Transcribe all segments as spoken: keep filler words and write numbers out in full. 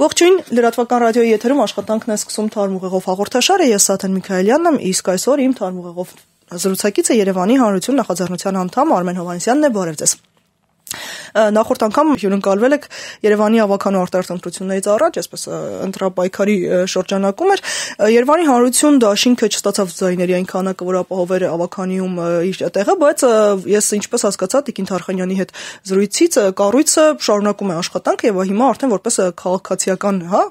Ողջույն, լրատվական ռադիոյի եթերում աշխատանքն է սկսում Թարմուղեղով հաղորդաշարը, ես Սաթեն Միքայելյանն եմ, իսկ այսօր իմ Թարմուղեղով զրուցակիցը Երևանի Հանրություն նախաձեռնության անդամ Արմեն Հովհաննիսյանն է, բարև ձեզ։ Նախորդ անգամ հյուրընկալվել եք Երևանի ավականու արտահայտություններից առաջ, այսպես ընտրապայքարի շրջանակում էր, Երևանի Հանրություն դաշինքը չստացավ ձայների այն քանակը, որ ապահոver ավականիում իր տեղը, բայց ես ինչպես հասկացա Տիկին Թարխանյանի հետ զրույցից, կառույցը շարունակում է աշխատանքը եւ հիմա արդեն որպես քաղաքացիական, հա,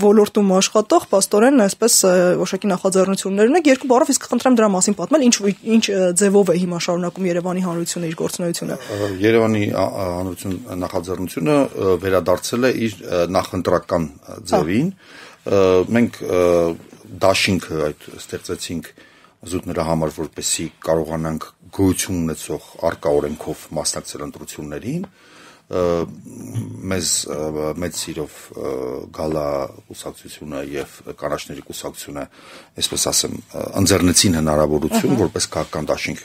ոլորտում աշխատող պաստորեն այսպես որոշակի նախաձեռնություններ ունեք, երկու բառով իսկ խնդրեմ դրա մասին պատմել, ինչ ինչ ձևով է հիմա շարունակում Երևանի Հանրությունը իր գործունեությունը։ Երևանի Հանրություն նախաձեռնությունը վերադարձել է իր նախընտրական ձևին։ Մենք դաշինքը այդ ստեղծեցինք զուտ նրա համար, որպեսզի կարողանանք գոյություն ունեցող առկա օրենքով մասնակցել ընտրություններին։ Մեզ մեծ սիրով գալա կուսակցությունը եւ կանաչների կուսակցությունը, այսպես ասեմ, ընձեռնեցին հնարավորություն որպես քաղաքական դաշինք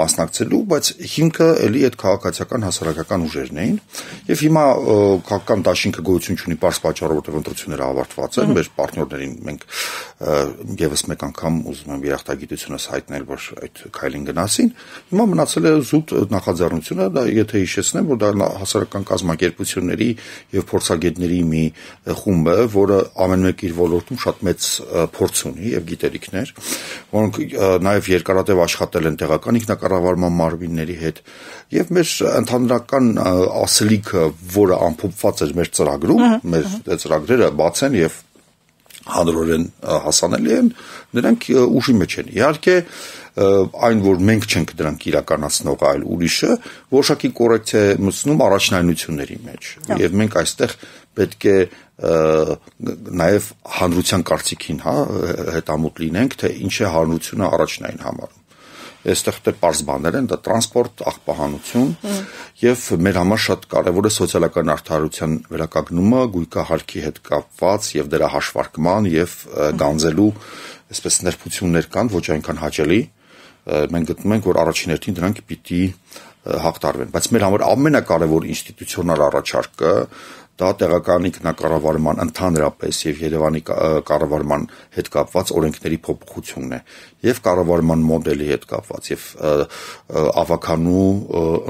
մասնակցելու, բայց հիմքը էլի այդ քաղաքացիական հասարակական ուժերն էին եւ հիմա քաղաքական դաշինքը գոյություն ունի պարզ պատճառով, որտեղ ընտրությունները ավարտված են, մեր պարտներներին մենք եւս մեկ անգամ ուզում եմ երախտագիտությունս հայտնել, որ այդ քայլին գնացին։ Հիմա մնացել է զուտ նախաձեռնությունը, դա եթե հիշեցնեմ, որ դա հասարակական կազմակերպությունների եւ փորձագետների մի խումբ է, որը ամեն մեկ իր ոլորտում շատ մեծ փորձ ունի եւ գիտելիքներ, որոնք նաեւ երկարատև աշխատել են տեղական ինքնակառավարման մարմինների հետ եւ մեր ընդհանրական ասելիքը, որը ամփոփված էր մեր ծրագրում, մեր ծրագրերը բաց են եւ հանրորեն հասանելի են, նրանք ուժի մեջ են։ Իհարկե այն, որ մենք չենք դրանք իրականացնող, այլ ուրիշը, որոշակի կոռեկցիա է մտցնում առաջնայնությունների մեջ։ Եվ մենք այստեղ պետք է նաև հանրության կարծիքին, հա, հետամուտ լինենք, թե ինչ է հանրությունը առաջնային համարում։ Այստեղ դե պարզ բաներ են, դա տրանսպորտ, աղբահանություն եւ մեր համար շատ կարեւոր է սոցիալական արդարության վերականգնումը, գույքահարկի հետ կապված եւ դրա հաշվարկման եւ գանձելու այսպես ներբություններ կան, ոչ այնքան հաճելի։ Մենք գտնում ենք, որ առաջին հերթին դրանք պիտի հաղթարվեն, բայց մեր համար ամենակարևոր ինստիտուցիոնալ առաջարկը դա տեղական ինքնակառավարման ընդհանրապես եւ Երևանի կառավարման հետ կապված օրենքների փոփոխությունն է եւ կառավարման մոդելի հետ կապված եւ ավականու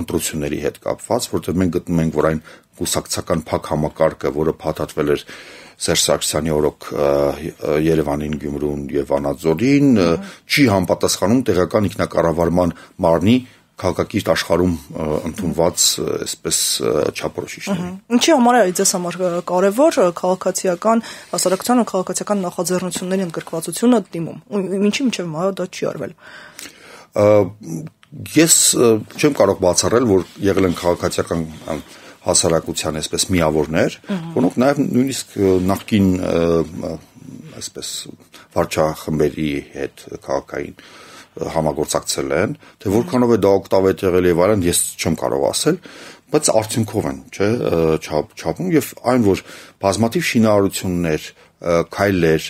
ընտրությունների հետ կապված, որտեղ մենք գտնում ենք, որ այն կուսակցական փակ համակարգը, որը փաթաթվել էր Սերժ Սարգսյանի օրոք Երևանին, Գյումրուն եւ Վանաձորին, չի համապատասխանում տեղական ինքնակառավարման մարմնի քաղաքակիրթ աշխարհում ընդունված այսպես չափորոշիչներին։ Ինչի համար է ձեզ համար կարևոր քաղաքացիական հասարակության ու քաղաքացիական նախաձեռնությունների ընդգրկվածությունը դիմում։ Ինչի՞ մինչև հիմա դա չի արվել։ Ես չեմ կարող բացառել, որ եղել են քաղաքացիական հասարակության այսպես միավորներ, որոնք նաև նույնիսկ նախկին այսպես վարչախմբերի հետ քաղաքային համագործակցել են, թե որքանով է դա օգտավետ եղել եւ այլն, ես չեմ կարող ասել, բայց արդյունքով են, չէ, չափում եւ այն, որ բազմաթիվ շինարարություններ, քայլեր,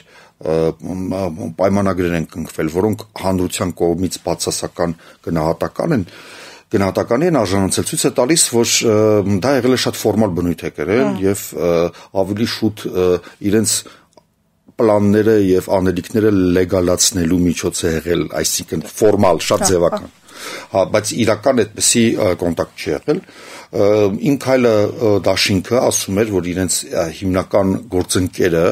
պայմանագրեր են կնքվել, որոնք հանրության կողմից բացասական գնահատական են, գնահատականի են արժանացել, ցույց է տալիս, որ դա եղել է շատ ֆորմալ բնույթ է կրել եւ ավելի շուտ իրենց պլանները եւ անելիքները լեգալացնելու միջոց է եղել, այսինքն ֆորմալ, շատ ձևական։ Հա, բայց իրական այդպեսի կոնտակտ չի եղել։ Ինք այլը դաշինքը ասում էր, որ իրենց հիմնական գործընկերը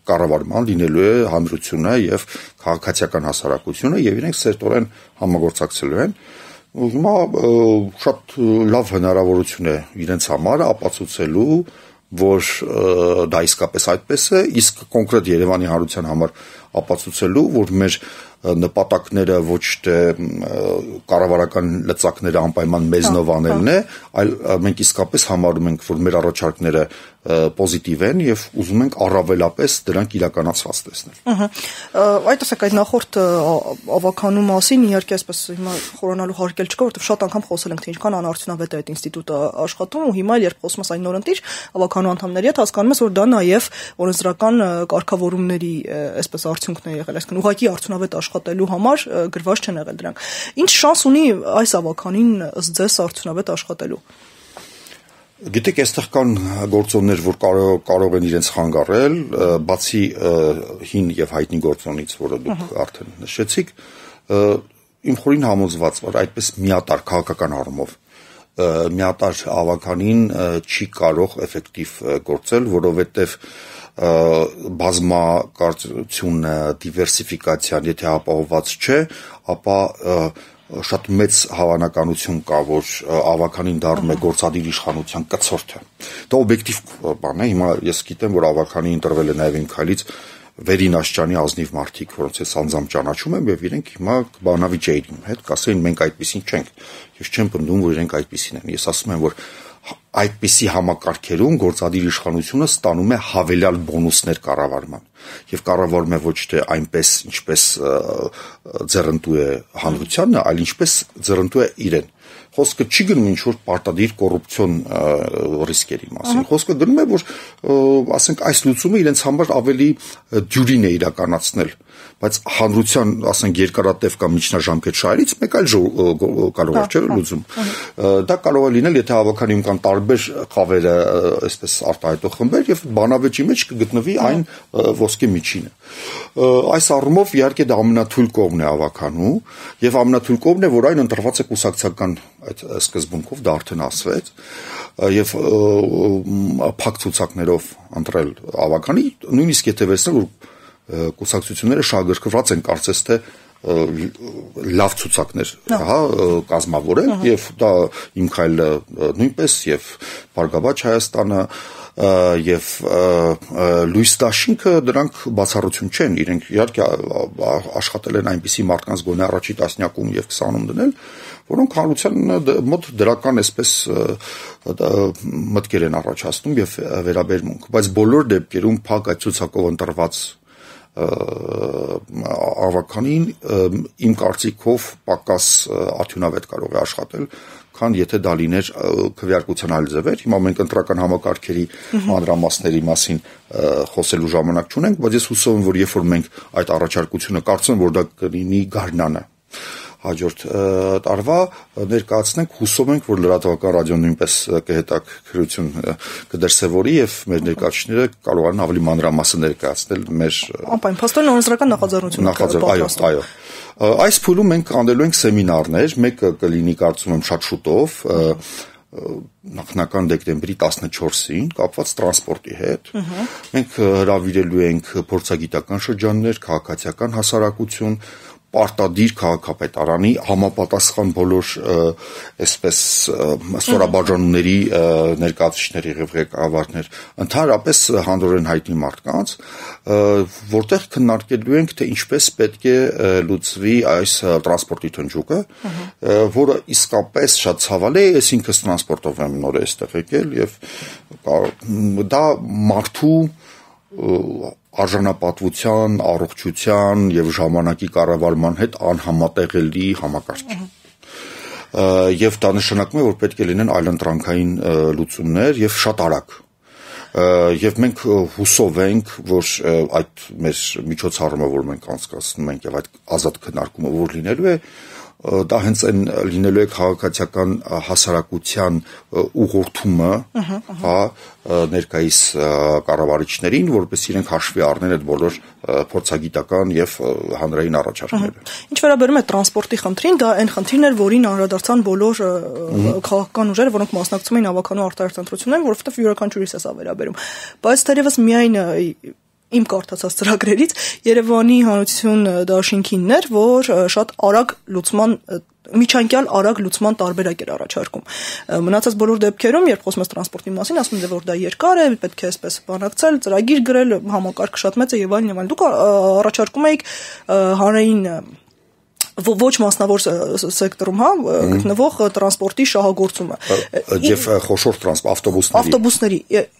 կառավարման լինելու է հանրությունը եւ քաղաքացիական հասարակությունը եւ իրենք սերտորեն համագործակցելու են։ Հիմա շատ լավ հնարավորություն է իրենց համար ապացուցելու, որ դա իսկապես այդպես է, իսկ կոնկրետ Երևանի հանրության համար ապացուցելու, որ մեր նպատակները ոչ թե կառավարական լծակները անպայման մեզնով անելն է, այլ մենք իսկապես համարում ենք, որ մեր առաջարկները պոզիտիվ են եւ ուզում ենք առավելապես դրանք իրականացված տեսնել։ Ահա։ Այդ ասեք, այդ նախորդ ավականու մասին իհարկե այսպես հիմա խորանալու հարկել չկա, որովհետեւ շատ անգամ խոսել ենք, թե ինչքան անարդյունավետ է այդ ինստիտուտը աշխատում ու հիմա երբ խոսում ես այն նորընտիր ավականու անդամների հետ հասկանում ես, որ դա նաեւ օրենսդրական կարգավորումների այսպես արդյունքն է եղել, այսինքն ուղղակի արդյունավետ աշխատելու համար գրված չեն եղել դրանք։ Ինչ շանս ունի այս ավականին ըստ ձեզ արդյունավետ աշխատելու։ Գիտեք, այստեղ կան գործոններ, որ կարող, կարող են իրենց խանգարել, բացի հին եւ հայտնի գործոնից, որը դուք uh-huh. արդեն նշեցիք, իմ խորին համոզված, որ այդպես միատար քաղաքական առումով միատար ավականին չի կարող էֆեկտիվ գործել, որովհետեւ բազմակարծությունը, դիվերսիֆիկացիան, եթե ապահովված չէ, ապա շատ մեծ հավանականություն կա, որ ավականին դառնում է գործադիր իշխանության կցորդը։ Դա օբյեկտիվ բան է, հիմա ես գիտեմ, որ ավականին ընտրվել է նաև իմ քայլից վերին աշճանի ազնիվ մարդիկ, որոնց ես անձամբ ճանաչում եմ, եւ իրենք հիմա կբանավիճեին իմ հետ, կասեին մենք այդպեսին չենք։ Ես չեմ պնդում, որ իրենք այդպեսին են։ Ես ասում եմ, որ այդպիսի համակարգերում գործադիր իշխանությունը ստանում է հավելյալ բոնուսներ կառավարման եւ կառավարում է ոչ թե այնպես ինչպես ձեռնտու է հանրությանը, այլ ինչպես ձեռնտու է իրեն։ Խոսքը չի գնում ինչ որ պարտադիր կոռուպցիոն ռիսկերի մասին։ Խոսքը գնում է, որ ասենք այս լուծումը իրենց համար ավելի դյուրին է իրականացնել, բայց հանրության, ասենք, երկարատև կամ միջնաժամկետ շահերից մեկ այլ կարող է չէ լուծում։ Դա կարող է լինել, եթե հավաքանում կան տարբեր խավերը, այսպես արտահայտող խմբեր եւ բանավեճի մեջ կգտնվի այն ոսկե միջինը։ Այս առումով իհարկե դա ամենաթույլ կողմն է հավաքանու եւ ամենաթույլ կողմն է, որ այն ընտրված է կուսակցական այդ սկզբունքով, դա արդեն ասվեց, եւ փակ ցուցակներով ընտրել ավականի, նույնիսկ եթե վերցնել, որ կուսակցությունները շահագրգռված են կարծես թե լավ ցուցակներ, հա, կազմավորել եւ դա իմ քայլը նույնպես եւ Բարգավաճ Հայաստանը եւ Լույս Դաշինքը դրանք բացառություն չեն, իրենք իհարկե աշխատել են այնպիսի մարդկանց գոնե առաջի տասնյակում եւ քսանում դնել, որոնք հանրության մոտ դրական այսպես մտքեր են առաջացնում եւ վերաբերմունք, բայց բոլոր դեպքերում փակ այդ ցուցակով ընտրված ավականին իմ կարծիքով պակաս արդյունավետ կարող է աշխատել, քան եթե դա լիներ քվեարկության այլ ձևեր։ Հիմա մենք ընտրական համակարգերի մանրամասների մասին խոսելու ժամանակ չունենք, բայց ես հուսով եմ, որ երբ որ մենք այդ առաջարկությունը կարծում որ դա կլինի գարնանը հաջորդ տարվա ներկայացնենք, հուսով ենք, որ լրատվական ռադիոն նույնպես կհետաքրություն կդրսևորի եւ մեր ներկայացուցիչները կարողանան ավելի մանրամասն ներկայացնել մեր Անպայն փաստորեն օրենսդրական նախաձեռնությունը նախաձեռն, այո, այո։ Այս փուլում մենք անելու ենք սեմինարներ, մեկը կլինի կարծում եմ շատ շուտով, նախնական դեկտեմբերի տասնչորսին կապված տրանսպորտի հետ։ Մենք հրավիրելու ենք փորձագիտական շրջաններ, քաղաքացիական հասարակություն, պարտադիր քաղաքապետարանի համապատասխան բոլոր այսպես ստորաբաժանումների ներկայացուցիչների եւ ղեկավարներ, ընդհանրապես հանրորեն հայտնի մարդկանց, որտեղ քննարկելու ենք, թե ինչպես պետք է լուծվի այս տրանսպորտի թնջուկը, որը իսկապես շատ ցավալի է, ես ինքս տրանսպորտով եմ նոր այստեղ եկել եւ դա մարդու արժանապատվության, առողջության եւ ժամանակի կառավարման հետ անհամատեղելի համակարգ։ Եվ դա նշանակում է, որ պետք է լինեն այլընտրանքային լուծումներ եւ շատ արագ։ Եվ մենք հուսով ենք, որ այդ մեր միջոցառումը, որ մենք անցկացնում ենք եւ այդ ազատ քննարկումը, որ լինելու է, դա հենց այն լինելու է քաղաքացիական հասարակության ուղղորդումը, հա, ներկայիս կառավարիչներին, որպես իրենք հաշվի առնեն այդ բոլոր փորձագիտական եւ հանրային առաջարկները։ Ինչ վերաբերում է տրանսպորտի խնդրին, դա այն խնդիրն էր, որին անդրադարձան բոլոր քաղաքական ուժերը, որոնք մասնակցում էին ավականու արտահայտություններին, որովհետեւ յուրաքանչյուրիս է սա վերաբերում։ Բայց թերևս միայն իմ կարդացած ծրագրերից Երևանի հանրություն դաշինքինն էր, որ շատ արագ լուծման միջանկյալ արագ լուծման տարբերակ էր առաջարկում։ Մնացած բոլոր դեպքերում, երբ խոսում ես տրանսպորտի մասին, ասում են, որ դա երկար է, պետք է այսպես բանակցել, ծրագիր գրել, համակարգը շատ մեծ է եւ այլն եւ այլն։ Դուք առաջարկում եք հանրային ոչ մասնավոր սեկտորում, հա, գտնվող տրանսպորտի շահագործումը եւ խոշոր տրանսպորտ ավտոբուսների ավտոբուսների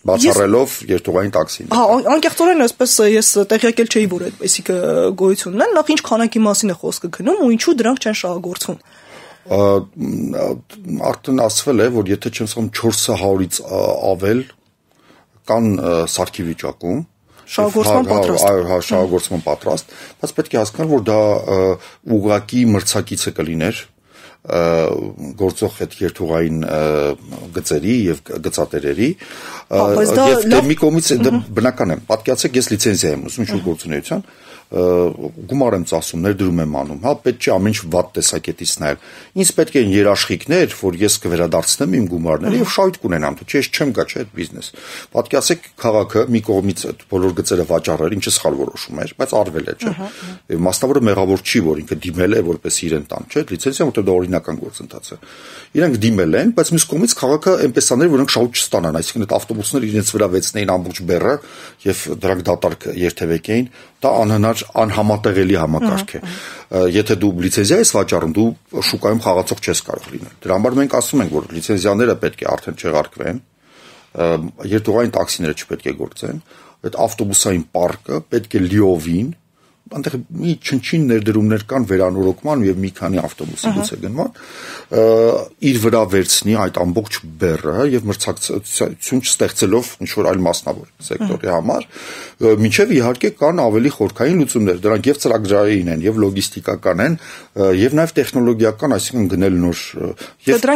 բացառելով երթուղային տաքսին։ Հա, անկեղծորեն այսպես ես տեղյակել չէի, որ այդպեսիք գոյություն ունեն, նախ ինչ քանակի մասին է խոսքը գնում ու ինչու դրանք չեն շահագործվում։ Արդեն ասվել է, որ եթե չեմ սխալվում չորս հարյուրից ավել կան սարքի վիճակում շահագործման պատրաստ։ Այո, հա, շահագործման պատրաստ, բայց պետք է հասկանալ, որ դա ուղղակի մրցակիցը կլիներ գործող այդ երթուղային գծերի եւ գծատերերի եւ դե մի կողմից դա բնական է պատկերացեք ես լիցենզիա եմ ուզում ինչ-որ գործունեության գումար եմ ծախսում, ներդրում եմ անում, հա, պետք չէ ամեն ինչ վատ տեսակետից նայել։ Ինձ պետք են երաշխիքներ, որ ես կվերադարձնեմ իմ գումարները եւ շահույթ կունենամ, թե ես չեմ գա, չէ, այդ բիզնես։ Պատկերացեք քաղաքը մի կողմից այդ բոլոր գծերը վաճառել, ինչը սխալ որոշում էր, բայց արվել է, չէ։ Եվ մասնավորը մեղավոր չի, որ ինքը դիմել է, որպես իրեն տան, չէ, լիցենզիա, որտեղ դա օրինական գործընթաց է։ Իրանք դիմել են, բայց մյուս կողմից քաղաքը այնպես աներ, որ նրանք շահույթ չստանան, այսինքն այդ ավտոբուսները իրենց վրա վեցնեին ամբողջ բեռը եւ դրանք դատարկ երթևեկեին, դա անհնար անհամատեղելի համակարգ է։ Եթե դու լիցենզիա ես վաճառում, դու շուկայում խաղացող չես կարող լինել։ Դրա համար մենք ասում ենք, որ լիցենզիաները պետք է արդեն չեղարկվեն, երթուղային տաքսիները չպետք է գործեն, այդ ավտոբուսային պարկը պետք է լիովին այնտեղ մի չնչին ներդրումներ կան վերանորոգման եւ մի քանի ավտոբուսի գուցե գնման իր վրա վերցնի այդ ամբողջ բեռը եւ մրցակցություն չստեղծելով ինչ որ այլ մասնավոր սեկտորի համար մինչեւ իհարկե կան ավելի խորքային լուծումներ դրանք եւ ծրագրային են եւ լոգիստիկական են եւ նաեւ տեխնոլոգիական այսինքն գնել նոր եւ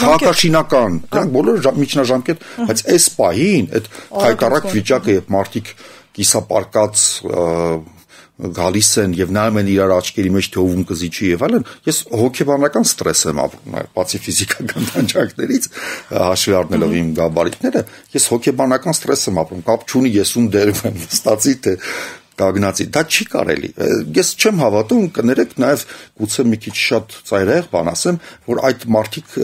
քաղաքաշինական դրանք բոլորը միջնաժամկետ բայց այս պահին այդ հայտարարակ վիճակը եւ մարտիկ կիսապարկած գալիս են եւ նայում են իրար աչքերի մեջ թե ով ում կզիջի եւ այլն ես հոգեբանական ստրես եմ ապրում բացի ֆիզիկական տանջանքներից հաշվի առնելով իմ գաբարիտները ես հոգեբանական ստրես եմ ապրում կապ չունի ես ում դերում եմ ստացի թե կագնացի դա չի կարելի ես չեմ հավատում կներեք նաեւ գուցե մի քիչ շատ ծայրահեղ բան ասեմ որ այդ մարդիկ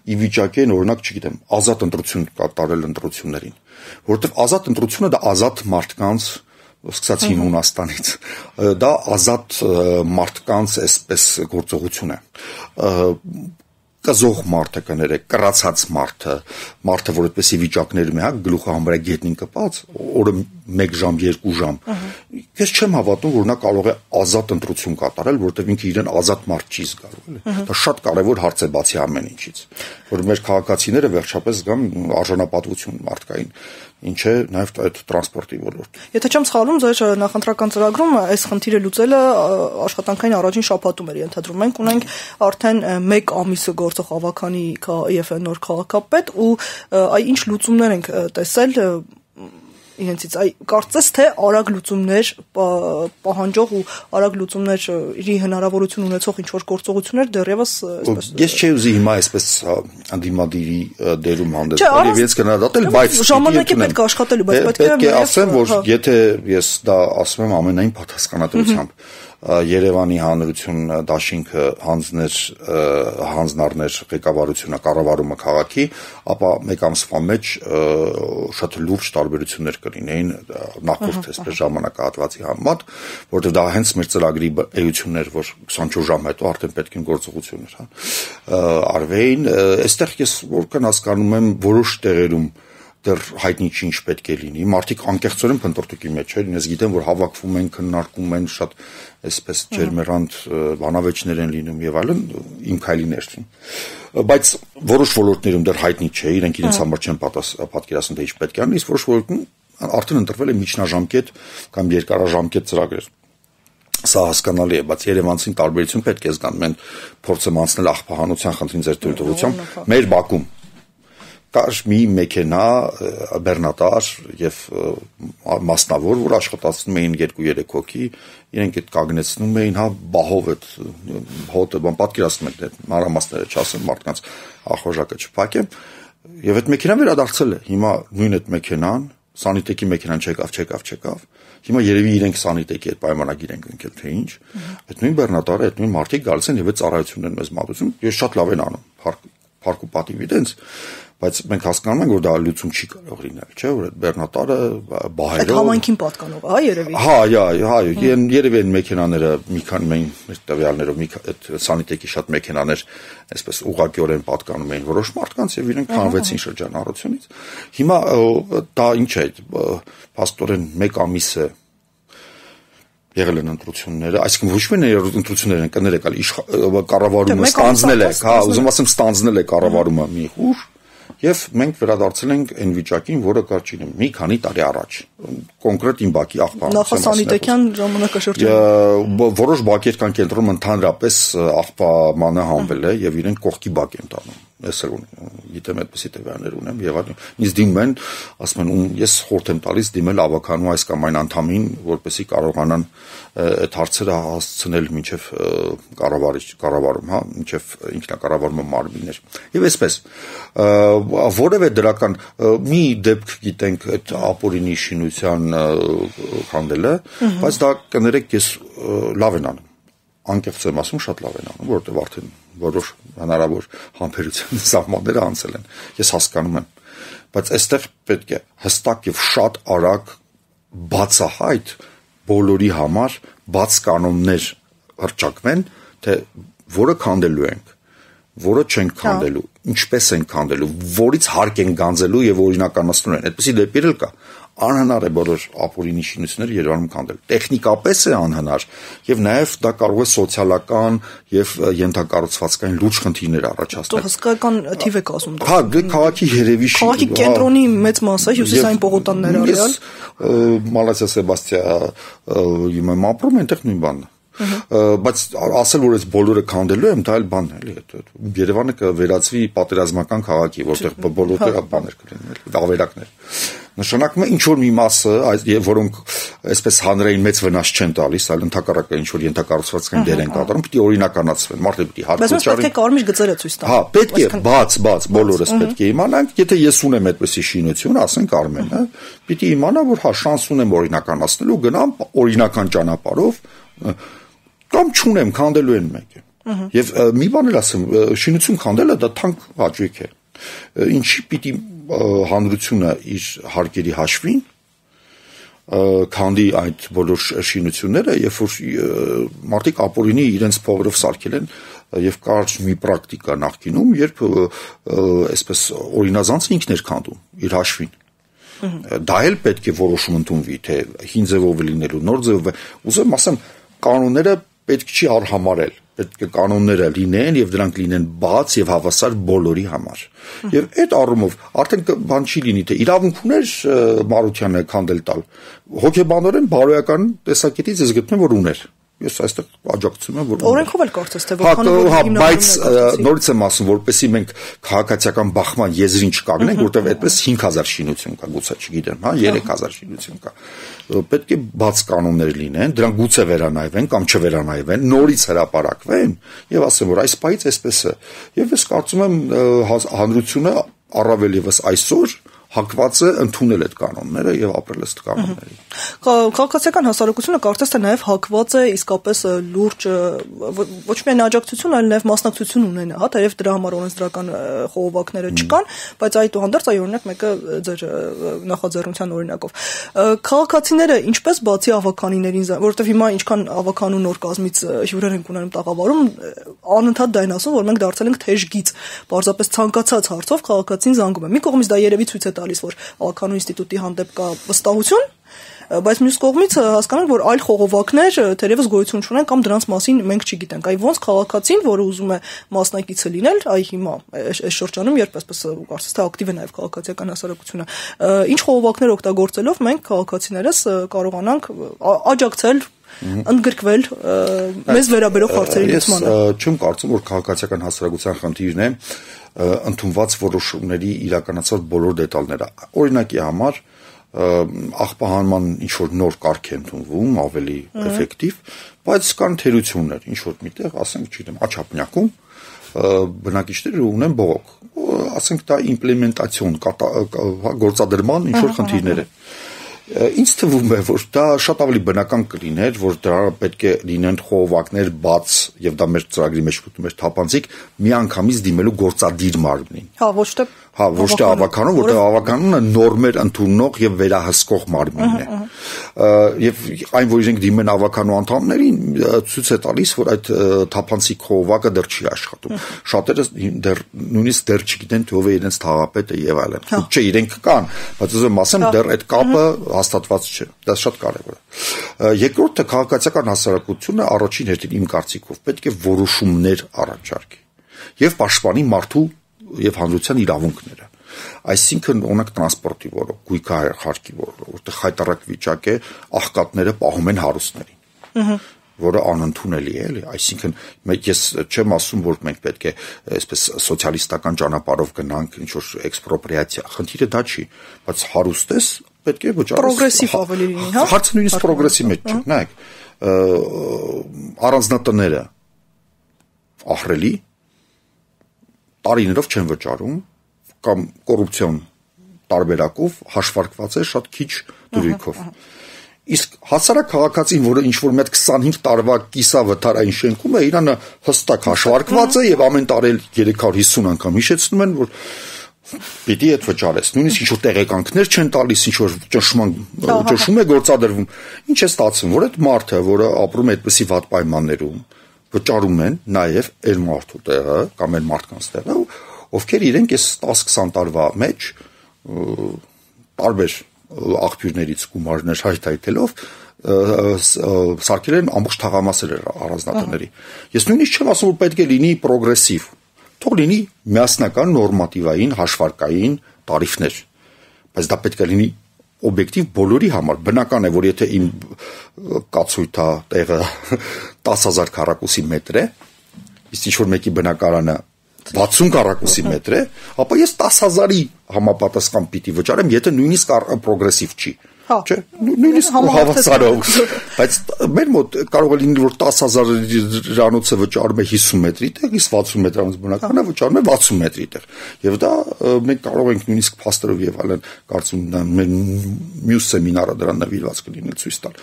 ի վիճակի են օրինակ չգիտեմ ազատ ընտրություն կատարել ընտրություններին որովհետեւ ազատ ընտրությունը դա ազատ մարդկանց սկսած հին Հունաստանից դա ազատ մարդկանց այսպես գործողություն է կզող մարդը կներեք կռացած մարդը մարդը որ այդպեսի վիճակներում է հա գլուխը համարյա գետնին կպած օրը մեկ ժամ երկու ժամ ես չեմ հավատում որ նա կարող է ազատ ընտրություն կատարել որովհետև ինքը իրեն ազատ մարդ չի զգալու էլի դա շատ կարևոր հարց է բացի ամեն ինչից որ մեր քաղաքացիները վերջապես զգան արժանապատվություն մարդկային ինչ է նաև այդ տրանսպորտի ոլորտ Եթե չեմ սխալվում ձեր նախընտրական ծրագրում այս խնդիրը լուծելը աշխատանքային առաջին շաբաթում էր ենթադրում մենք ունենք արդեն մեկ ամիսը գործող ավականի եւ նոր քաղաքապետ ու այ ինչ լուծումներ ենք տեսել իրենցից այ կարծես թե արագ լուծումներ պահանջող ու արագ լուծումների հնարավորություն ունեցող ինչ որ գործողություններ դեռևս այսպես ես չէի ուզի հիմա այսպես անդիմադիրի դերում հանդես եւ ես կնահատել բայց ժամանակի պետք է աշխատելու բայց պետք է պետք է ասեմ որ եթե ես դա ասում եմ ամենայն պատասխանատվությամբ Երևանի հանրություն դաշինքը հանձներ հանձնարներ ղեկավարությունը կառավարումը քաղաքի, ապա մեկ ամսվա մեջ շատ լուրջ տարբերություններ կլինեին նախորդ այսպես ժամանակահատվածի համեմատ, որովհետև դա հենց մեր ծրագրի էություններ, որ քսանչորս ժամ հետո արդեն պետք են գործողություններ, հա, արվեին, այստեղ ես որքան հասկանում եմ որոշ տեղերում դեռ հայտնի չի ինչ պետք է լինի։ Մարդիկ անկեղծորեն փնտրտուքի մեջ են, ես գիտեմ, որ հավաքվում են, քննարկում են, շատ այսպես ջերմերանդ բանավեճներ են լինում եւ այլն, իմ քայլիներն։ Բայց որոշ ոլորտներում դեռ հայտնի չէ, իրենք իրենց համար չեն պատկերացնում թե ինչ պետք է անի, իսկ որոշ ոլորտում արդեն ընտրվել է միջնաժամկետ կամ երկարաժամկետ ծրագրեր։ Սա հասկանալի է, բայց Երևանցին տարբերություն պետք է զգան, մենք փորձում անցնել աղբահանության խնդրին ձեր թույլտվությամբ մեր բակում կար մի մեքենա բեռնատար եւ մասնավոր, որ աշխատացնում էին երկու-երեք հոգի, իրենք այդ կանգնեցնում էին, հա, բահով այդ հոտը, բան պատկերացնում եք, այդ մանրամասները չասեմ, մարդկանց ախորժակը չփակեմ, եւ այդ մեքենան վերադարձել է։ Հիմա նույն այդ մեքենան, սանիտեկի մեքենան չեկավ, չեկավ, չեկավ։ Հիմա երևի իրենք սանիտեկի այդ պայմանագիր են կնքել, թե ինչ։ Այդ նույն բեռնատարը, այդ նույն մարդիկ գալիս են եւ այդ ծառայությունն են մեզ մատուցում։ Ես շատ լավ են անում, փառք ու պատիվ իրենց, բայց մենք հասկանում ենք, որ դա լուծում չի կարող լինել, չէ՞, որ այդ բեռնատարը բահերով Այդ համայնքին պատկանող, հա, երևի։ Հա, հա, հա, երևի այն մեքենաները մի քանի մեր տվյալներով մի այդ սանիտեկի շատ մեքենաներ այսպես ուղղակիորեն պատկանում էին որոշ մարդկանց եւ իրենք հանվեցին շրջանառությունից։ Հիմա դա ինչ է, փաստորեն մեկ ամիս է եղել են ընտրությունները, այսինքն ոչ միայն ընտրություններ են կներեք, այլ կառավարումը ստանձնել է, հա, ուզում ասեմ ստանձնել է կառավարումը մի ուժ Եվ մենք վերադարձել ենք այն վիճակին, որը կար չինեմ մի քանի տարի առաջ։ Կոնկրետ իմ բակի աղբան։ Նախասանիտետյան ժամանակաշրջան։ Որոշ բակեր կան կենտրոնում ընդհանրապես աղբամանը հանվել է եւ իրենք կողքի բակ են տանում։ Ես էլ գիտեմ այդպեսի տվյալներ ունեմ եւ այլն։ Ինձ դիմում են, ասում են, ես խորհուրդ եմ տալիս դիմել ավականու այս կամ այն անդամին, որպեսզի կարողանան այդ հարցերը հասցնել մինչեւ կառավարիչ կառավարում, հա, մինչեւ ինքնակառավարման մարմիններ։ Եվ այսպես որևէ դրական մի դեպք գիտենք այդ ապօրինի շինության խանդելը, բայց դա կներեք ես լավ են անում։ Անկեղծ եմ ասում, շատ լավ են անում, որովհետև արդեն որոշ հնարավոր համբերության սահմանները անցել են։ Ես հասկանում եմ, բայց այստեղ պետք է հստակ եւ շատ արագ բացահայտ բոլորի համար բաց կանոններ հրճակվեն, թե որը քանդելու ենք, որը չենք քանդելու, ինչպես ենք քանդելու, որից հարկ են գանձելու եւ օրինականացնելու են։ Այդպեսի դեպքեր էլ կա։ Անհնար է բոլոր ապօրինի շինությունները Երևանում քանդել։ Տեխնիկապես է անհնար եւ նաեւ դա կարող է սոցիալական եւ ենթակառուցվածքային լուրջ խնդիրներ առաջացնել։ Դու հսկայական թիվ եք ասում։ Հա, քաղաքի երևի քաղաքի կենտրոնի մեծ մասը հյուսիսային պողոտաններ արել։ Մալազիա Սեբաստիա իմամ ապրում այնտեղ նույն բանն է։ Բայց ասել որ այս բոլորը քանդելու եմ, դա էլ բան է, էլի։ Երևանը կվերածվի պատերազմական քաղաքի, որտեղ բոլորը բաներ կլինեն, ավերակներ։ Նշանակում է ինչ որ մի մասը, որոնք այսպես հանրային մեծ վնաս չեն տալիս, այլ ընդհակառակը ինչ որ ենթակառուցվածքային դեր են կատարում, պիտի օրինականացվեն, մարդը պիտի հարկոչարի։ Բայց պետք է կարմիր գծերը ցույց տան։ Հա, պետք է բաց, բաց, բոլորս պետք է իմանանք, եթե ես ունեմ այդպեսի շինություն, ասենք Արմենը, պիտի իմանա, որ հա շանս ունեմ օրինականացնելու, գնամ օրինական ճանապարհով կամ չունեմ, քանդելու են մեկը։ Եվ մի բան էլ ասեմ, շինություն քանդելը դա թանկ հաճույք է։ Ինչի պիտի հանրությունը իր հարկերի հաշվին քանդի այդ բոլոր շինությունները, երբ որ մարդիկ ապօրինի իրենց փողերով սարքել են եւ կար մի պրակտիկա նախկինում, երբ այսպես օրինազանցը ինքն էր քանդում իր հաշվին։ Դա էլ պետք է որոշում ընդունվի, թե հին ձևով լինելու, նոր ձևով։ Ուզում ասեմ, կանոնները պետք չի արհամարել, պետք է կանոնները լինեն եւ դրանք լինեն բաց եւ հավասար բոլորի համար։ Եվ այդ առումով արդեն բան չի լինի, թե իրավունք ուներ Մարությանը քանդել տալ։ Հոգեբանորեն բարոյական տեսակետից ես գտնում որ ուներ։ Ես այստեղ աջակցում եմ, որ օրենքով էլ կարծես թե որքան որ բայց նորից եմ ասում, որպեսզի մենք քաղաքացիական բախման եզրին չկանգնենք, որտեղ այդպես հինգ հազար շինություն կա, գուցե չգիտեմ, հա, երեք հազար շինություն կա։ Պետք է բաց կանոններ լինեն, դրանք գուցե վերանայվեն կամ չվերանայվեն, նորից հրապարակվեն եւ ասեմ, որ այս պայից այսպես է։ Եվ ես կարծում եմ հանրությունը առավել եւս այսօր հակված է ընդունել այդ կանոնները եւ ապրել ըստ կանոնների։ Քաղաքացիական հասարակությունը կարծես թե նաեւ հակված է իսկապես լուրջ ոչ միայն աջակցություն, այլ նաեւ մասնակցություն ունենա, հա, թեև դրա համար օրենսդրական խողովակները չկան, բայց այդուհանդերձ այ օրինակ մեկը ձեր նախաձեռնության օրինակով։ Քաղաքացիները ինչպես բացի ավականիներին, որովհետեւ հիմա ինչքան ավականու նոր կազմից հյուրեր են ունենում տաղավարում, անընդհատ դա են ասում, որ մենք դարձել ենք թեժ գիծ, պարզապես ցանկացած հարցով քաղաքացին զանգում է։ Մի կողմից դա երևի ցույց է տալիս, որ ավականու ինստիտուտի հանդեպ կա վստահություն, բայց մյուս կողմից հասկանում ենք, որ այլ խողովակներ թերևս գոյություն չունեն կամ դրանց մասին մենք չգիտենք։ Այ ոնց քաղաքացին, որը ուզում է մասնակիցը լինել, այ հիմա այս շրջանում երբ այսպես կարծես թե ակտիվ է նաև քաղաքացիական հասարակությունը, ինչ խողովակներ օգտագործելով մենք քաղաքացիներս կարողանանք աջակցել ընդգրկվել մեզ վերաբերող հարցերի լուծմանը։ Ես չեմ կարծում, որ քաղաքացիական հասարակության խնդիրն է ընդունված որոշումների իրականացված բոլոր դետալները։ Օրինակի համար աղբահանման ինչ որ նոր կարգ է ընդունվում, ավելի էֆեկտիվ, բայց կան թերություններ, ինչ որ միտեղ, ասենք, չգիտեմ, Աչափնյակում բնակիչները ունեն բողոք, ասենք դա իմպլեմենտացիոն գործադրման ինչ որ խնդիրներ է։ Ինձ թվում է, որ դա շատ ավելի բնական կլիներ, որ դրա պետք է լինեն խողովակներ բաց եւ դա մեր ծրագրի մեջ մտնում էր թափանցիկ միանգամից դիմելու գործադիր մարմնին։ Հա, ոչ թե Հա, ոչ թե ավականուն, որտեղ ավականունը նորմեր ընդունող եւ վերահսկող մարմինն է։ Եվ այն, որ իրենք դիմեն ավականու անդամներին, ցույց է տալիս, որ այդ թափանցիկ խողովակը դեռ չի աշխատում։ Շատերը դեռ նույնիսկ դեռ չգիտեն թե ով է իրենց թաղապետը եւ այլն։ Չէ, իրենք կան, բայց ուզում ասեմ, դեռ այդ կապը հաստատված չէ։ Դա շատ կարեւոր է։ Երկրորդը քաղաքացիական հասարակությունը առաջին հերթին իմ կարծիքով պետք է որոշումներ առաջարկի եւ պաշտպանի մարդու եւ հանրության իրավունքները։ Այսինքն օրինակ տրանսպորտի ոլորտ, գույքահարկի ոլորտ, որտեղ խայտառակ վիճակ է, աղքատները պահում են հարուստներին, որը անընդունելի է, էլի, այսինքն ես չեմ ասում, որ մենք պետք է այսպես սոցիալիստական ճանապարհով գնանք, ինչ որ էքսպրոպրիացիա, խնդիրը դա չի, բայց հարուստ ես, պետք է վճարես պրոգրեսիվ ավելի լինի, հա։ Հարցը նույնիսկ պրոգրեսի մեջ չէ, նայեք, առանձնատները ահռելի տարիներով չեն վճարում կամ կոռուպցիոն տարբերակով հաշվարկված է շատ քիչ դրույքով։ Իսկ հասարակ քաղաքացին, որը ինչ որ մի հատ քսանհինգ տարվա կիսավթարային շենքում է, իրանը հստակ հաշվարկված է եւ ամեն տարի երեք հարյուր հիսուն անգամ հիշեցնում են, որ պիտի այդ վճարես։ Նույնիսկ ինչ որ տեղեկանքներ չեն տալիս, ինչ որ ճնշման ճնշում է գործադրվում։ Ինչ է ստացվում, որ այդ մարդը, որը ապրում է այդպիսի վատ պայմաններում, վճարում են նաև այլ մարդու տեղը կամ այլ մարդկանց տեղը, ովքեր իրենք այս տասը-քսան տարվա մեջ տարբեր աղբյուրներից գումարներ հայթայթելով սարքել են ամբողջ թաղամասեր առանձնատների։ Ես նույնիսկ չեմ ասում, որ պետք է լինի պրոգրեսիվ, թող լինի միասնական նորմատիվային հաշվարկային տարիֆներ, բայց դա պետք է լինի օբյեկտիվ բոլորի համար։ Բնական է, որ եթե իմ կացույթա տեղը տասը հազար քառակուսի մետր է, իսկ ինչ որ մեկի բնակարանը վաթսուն քառակուսի մետր է, ապա ես տասը հազարի համապատասխան պիտի վճարեմ, եթե նույնիսկ պրոգրեսիվ չի։ Չէ, նույնիսկ հավասարով, բայց մեր մոտ կարող է լինել, որ տասը հազարիրանոցը վճարում է հիսուն մետրի տեղ, իսկ վաթսուն մետրանոց բնակարանը վճարում է վաթսուն մետրի տեղ, եւ դա մենք կարող ենք նույնիսկ փաստերով եւ այլն, կարծում եմ մեր մյուս սեմինարը դրան նվիրված կլինի ցույց տալ,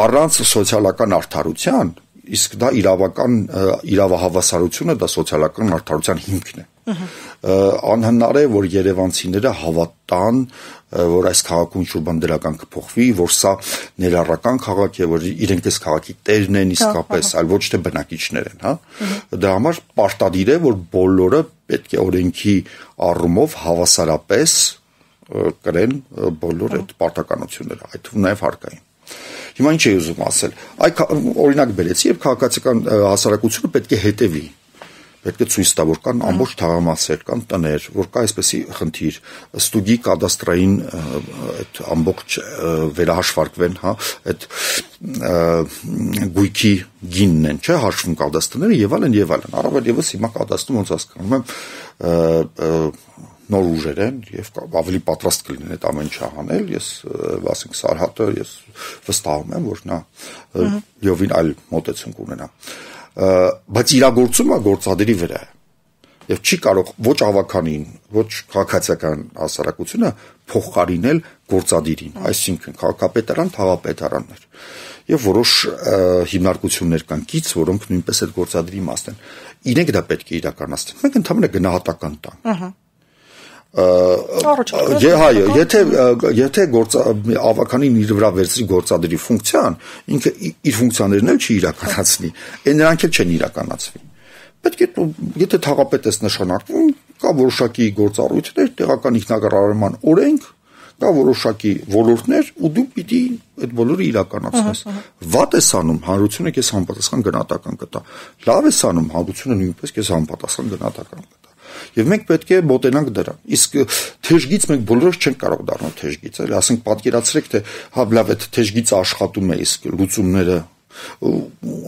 առանց սոցիալական արդարության, իսկ դա իրավական իրավահավասարությունը, դա սոցիալական արդարության հիմքն է։ Անհնար է, որ երևանցիները հավատան, որ այս քաղաքում ինչ-որ բան դրական կփոխվի, որ սա ներառական քաղաք է, որ իրենք այս քաղաքի տերն են իսկապես, այլ ոչ թե բնակիչներ են, հա։ Դրա համար պարտադիր է, որ բոլորը պետք է օրենքի առումով հավասարապես կրեն բոլոր այդ պարտականությունները, այդ թվում նաև հարկային։ Հիմա ինչ է ուզում ասել։ Այ օրինակ բերեցի, եւ քաղաքացիական հասարակությունը պետք է հետևի։ Պետք է ցույց տա, որ կան ամբողջ թաղամասեր, կան տներ, որ կա այսպեսի խնդիր, ստուգի կադաստրային այդ ամբողջ վերահաշվարկվեն, հա, այդ գույքի գինն են, չէ, հաշվում կադաստրները եւ այլն եւ այլն։ Առավել եւս հիմա կադաստրում ոնց հասկանում եմ նոր ուժեր են եւ ավելի պատրաստ կլինեն այդ ամեն ինչը անել, ես ասենք Սարհատը ես վստահում եմ, որ նա յովին այլ մոտեցում կունենա, բայց իրագործումը գործադիրի վրա է եւ չի կարող ոչ ավականին, ոչ քաղաքացիական հասարակությունը փոխարինել գործադիրին, այսինքն քաղաքապետարան, թաղապետարաններ եւ որոշ հիմնարկություններ կան կից, որոնք նույնպես այդ գործադիրի իմաստ են, իրենք դա պետք է իրականացնեն, մենք ընդհանրապես գնահատական տանք։ Հայ, եթե եթե ավականին իր վրա վերցրի գործադրի ֆունկցիան, ինքը իր ֆունկցիաներն էլ չի իրականացնի, այն նրանք էլ չեն իրականացվի։ Պետք է եթե թաղապետ ես նշանակվում, կա որոշակի գործառույթներ, տեղական ինքնակառավարման օրենք, կա որոշակի ոլորտներ, ու դու պիտի այդ բոլորը իրականացնես։ Վատ ես անում, հանրությունը քեզ համապատասխան գնահատական կտա։ Լավ ես անում, հանրությունը նույնպես քեզ համապատասխան գնահատական կտա։ Եվ մենք պետք է մոտենանք դրան։ Իսկ թեժգից մենք բոլորս չենք կարող դառնալ թեժգից, էլի, ասենք պատկերացրեք, թե հա լավ է թեժգից աշխատում է, իսկ լուծումները,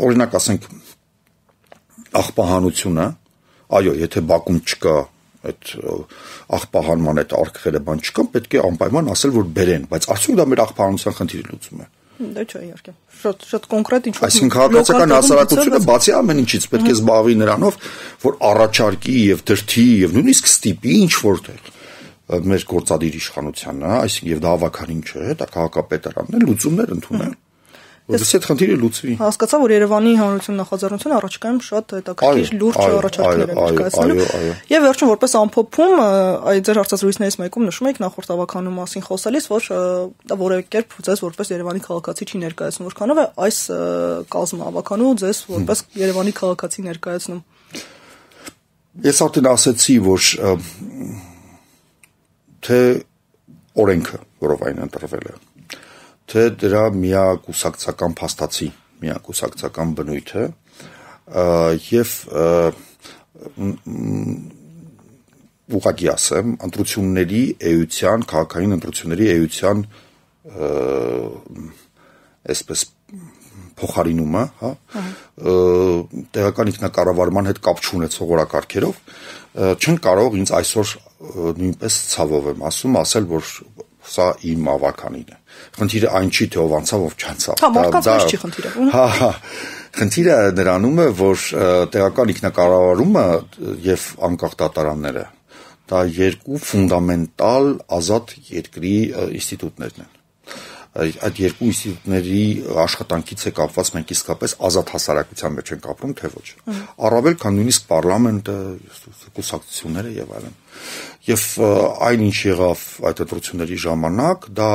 օրինակ ասենք աղբահանությունը, այո, եթե Բաքում չկա այդ աղբահանման այդ արկղերը բան չկան, պետք է անպայման ասել, որ բերեն, բայց արդյոք դա մեր աղբահանության խնդիրը լուծում է։ Դա չէ, իհարկե։ Շատ շատ կոնկրետ ինչ-որ այսինքն քաղաքացիական հասարակությունը բացի ամեն ինչից պետք է զբաղվի նրանով, որ առաջարկի եւ դրթի եւ նույնիսկ ստիպի ինչ որտեղ մեր գործադիր իշխանությանը, այսինքն եւ դա ավականին չէ, դա քաղաքապետարանն է, լուծումներ ընդունել։ Որովհետեւ այդ խնդիրը լուծվի։ Հասկացա, որ Երևանի հանրություն նախաձեռնությունը առաջիկայում շատ հետաքրքիր լուրջ առաջարկներ է ներկայացնելու։ Եվ վերջում որպես ամփոփում, այ ձեր հարցազրույցներից մեկում նշում եք նախորդ ավականու մասին խոսելիս, որ դա որևէ կերպ ձեզ որպես Երևանի քաղաքացի չի ներկայացնում, որքանով է այս կազմը ավականու ձեզ որպես Երևանի քաղաքացի ներկայացնում։ Ես արդեն ասացի, որ թե օրենքը, որով այն ընտրվել է, թե դրա միակուսակցական փաստացի, միակուսակցական բնույթը եւ ուղղակի ասեմ, ընտրությունների էության, քաղաքային ընտրությունների էության այսպես փոխարինումը, հա, տեղական ինքնակառավարման հետ կապ չունեցող օրակարգերով չեն կարող ինձ այսօր նույնպես ցավով եմ ասում, ասել, որ սա իմ ավականին է։ Խնդիրը այն չի, թե ով անցավ, ով չանցավ։ Հա, մարդկանց չի խնդիրը։ Հա, հա։ Խնդիրը նրանում է, որ տեղական ինքնակառավարումը եւ անկախ դատարանները դա երկու ֆունդամենտալ ազատ երկրի ինստիտուտներն են։ Այդ երկու ինստիտուտների աշխատանքից է կապված մենք իսկապես ազատ հասարակության մեջ ենք ապրում, թե ոչ։ Առավել քան նույնիսկ պարլամենտը, կուսակցությունները եւ այլն։ Եվ այն ինչ եղավ այդ ընտրությունների ժամանակ, դա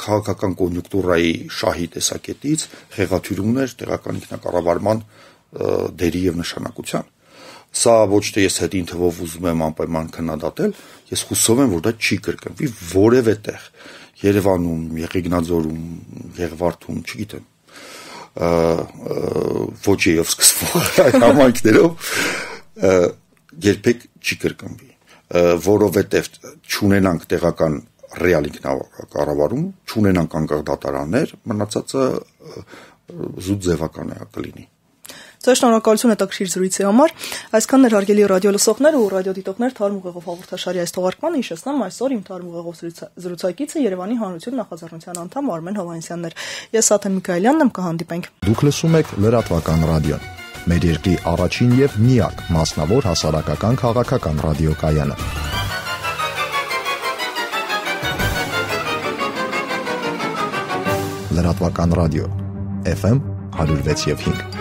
քաղաքական կոնյունկտուրայի շահի տեսակետից խեղաթյուրումն էր տեղական ինքնակառավարման դերի եւ նշանակության։ Սա ոչ թե ես հետին թվով ուզում եմ անպայման քննադատել, ես հուսով եմ, որ դա չի կրկնվի որևէ տեղ։ Երևանում, Եղեգնաձորում, Եղվարդում, չգիտեմ, ոչեյով սկսվող այդ համայնքներով երբեք չի կրկնվի, որովհետև չունենանք տեղական ռեալ ինքնակառավարում, չունենանք անկախ դատարաններ, մնացածը զուտ ձևական է կլինի։ Ձեր շնորհակալություն հետաքրքիր զրույցի համար։ Այսքանն էր հարգելի ռադիո լսողներ ու ռադիոդիտողներ Թարմ ուղեղով հաղորդաշարի այս թողարկմանը հիշեցնեմ այսօր իմ Թարմ ուղեղով զրուցակիցը Երևանի Հանրություն նախաձեռնության անդամ Արմեն Հովհաննիսյանն էր։ Ես Աթեն Միքայելյանն եմ, կհանդիպենք։ Դուք լսում եք լրատվական ռադիոն։ Մեր երկրի առաջին եւ միակ մասնավոր հասարակական քաղաքական ռադիոկայանը։ Լրատվական ռադիո Էֆ Էմ one oh six point five